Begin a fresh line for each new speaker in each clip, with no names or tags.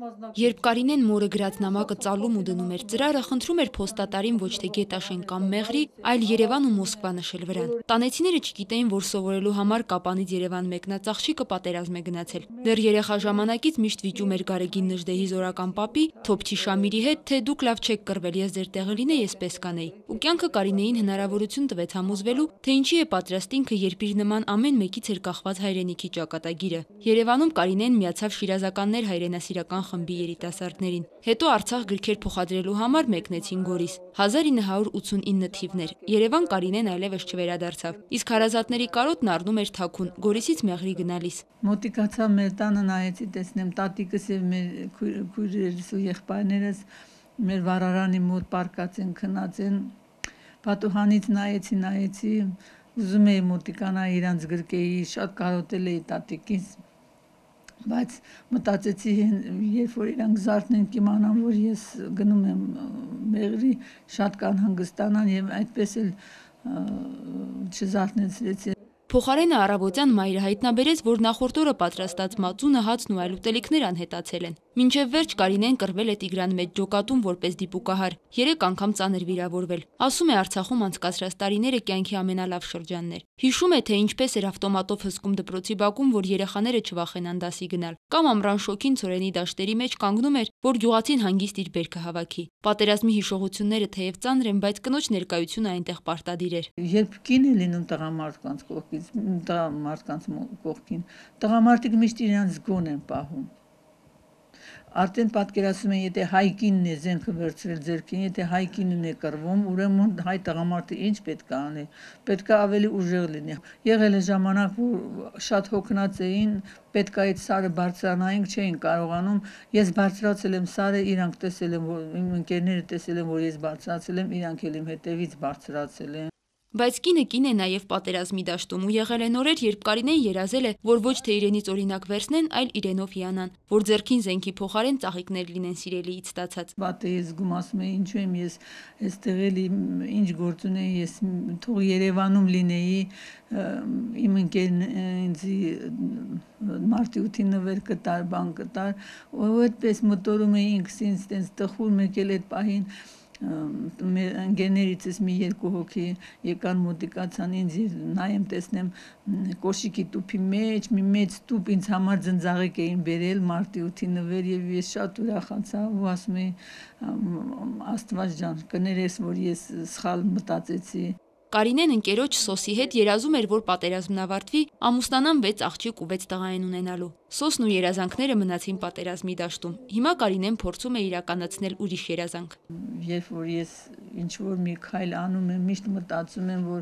Երբ Կարինեն մորը գրած նամակը ծալում ու դնում էր ծրարը, խնդրում էր փոստատարին ոչ թե Գետաշեն կամ Մեղրի, այլ Երևան ու Մոսկվա նշել վրան։ Տանեցիները չգիտեին, որ սովորելու համար Կապանից Երևան մեկնած աղջիկը պատերազմ է գնացել։ Դեռ երեխա ժամանակից միշտ վիճում էր Գարեգին Նժդեհի զորական պապի, Թոփչի Շամիրի հետ, թե դուք լավ չեք կռվել, ես ձեր տեղը լինեի, ես պես կանեի։ Ու կյանքը Կարինեին հնարավորություն տվեց համոզվելու, թե ինչի է պատրաստ ինքը, երբ իր նման ամեն մեկից էր կախված հայրենիքի ճակատագիրը։ Երևանում Կարինեն միացավ Շիրազականներ հայրենասիրական խմբի երիտասարդներին։ Հետո Արցախ գրքեր փոխադրելու համար մեկնեցին Գորիս։ 1989 թիվն էր։ Երևան Կարինեն այլևս չվերադարձավ։ Իսկ հարազատների կարոտն առնում էր թաքուն, Գորիսից Մեղրի գնալիս։
Մոտիկացա մեր տանը, նայեցի, տեսնեմ տատիկս եւ մեր քույրերս ու եղբայրներս մեր վառարանի մոտ պարկած են, քնած են։ Պատուհանից նայեցի, ուզում էի մոտիկանա իրանց գրկեի, շատ կարոտել էի տատիկից, բայց մտածեցի, երբ որ իրանք զարթնեն կիմանան, որ ես գնում եմ Մեղրի, շատ կանհանգստանան եւ այդպես էլ չզարթնեցրեցի։
Փոխարենը առավոտյան մայրը հայտնաբերեց, որ նախորդ օրը պատրաստած մածունը, հացն ու այլ ուտելիքներ անհետացել են։ Մինչև վերջ Կարինեն կռվել է Տիգրան մեջ ջոկատում որպես դիպուկահար, 3 անգամ ծանր վիրավորվել։ Ասում է Արցախում անցկացրած տարիները կյանքի ամենալավ շրջանն էր։ Հիշում է, թե ինչպես էր ավտոմատով հսկում դպրոցի բակում, որ երեխաները չվախենան դասի գնալ, կամ ամռան շոգին ցորենի դաշտերի մեջ կանգնում էր, որ գյուղացին հանգիստ իր բերքը հավաքի։ Պատերազմի հիշողությունները թեև ծանր են, բայց կնոջ ներկայությունը այնտեղ պարտադիր էր։
Երբ կին է լինում տղամարդկանց կողքին, տղամարդիկ միշտ իրենց գոն են պահում։ Արդեն պատկերացնում են, եթե հայ կինն է զենքը վերցրել ձեռքին, եթե հայ կինն է կռվում, ուրեմն հայ տղամարդը ինչ պետք է անի, պետք է ավելի ուժեղ լինի։ Եղել է ժամանակ, որ շատ հոգնած էին, պետք է այդ սարը բարձրանայինք, չէին կարողանում։ Ես բարձրացել եմ սարը, իրանք տեսել են, որ իմ ընկերները տեսել են, որ ես բարձրացել եմ, իրանք էլ իմ հետևից բարձրացել են։
Բայց կինը կին է նաև պատերազմի դաշտում ու եղել են օրեր, երբ Կարինեն երազել է, որ ոչ թե իրենից օրինակ վերցնեն, այլ իրենով հիանան, որ ձեռքին զենքի փոխարեն ծաղիկներ լինեն սիրելիից ստացած։
Բաթե ես գումասում եմ, ինչու եմ ես այստեղ էլի ինչ գործ ունեի, ես թող Երևանում լինեի, իմ ընկերն ինձ մարտի 8-ին նվեր կտար, բան կտար, ու այդպես մտորում էինք, ինձ տենց տխուր մեկ էլ այդ պահին մեր ընկերներիցս մի 2 հոգի եկան մոտիկացան ինձ, նայեմ տեսնեմ կոշիկի տուփի մեջ մի մեծ տուփ ինձ համար ձնձաղիկ էին բերել մարտի 8-ի նվեր եւ ես շատ ուրախացա ու ասում էի Աստված ջան կներես որ ես սխալ մտածեցի։
Կարինեն ընկերոջ Սոսի հետ երազում էր, որ պատերազմն ավարտվի, ամուսնանան 6 աղջիկ ու 6 տղա են ունենալու։ Սոսն ու երազանքները մնացին պատերազմի դաշտում։ Հիմա Կարինեն փորձում է իրականացնել ուրիշ երազանք։
Երբ որ ես ինչ որ մի քայլ անում եմ, միշտ մտածում եմ, որ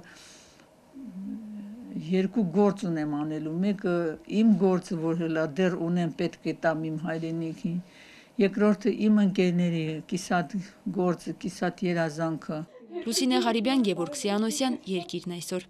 2 գործ ունեմ անելու։ Մեկը իմ գործը, որ հլա դեռ ունեմ, պետք է տամ իմ հայրենիքին։ Երկրորդը իմ ընկերների կիսատ գործը, կիսատ երազանքը։
Լուսինե Ղարիբյան, Գևորգ Սիանոսյան, Երկիրն այսօր։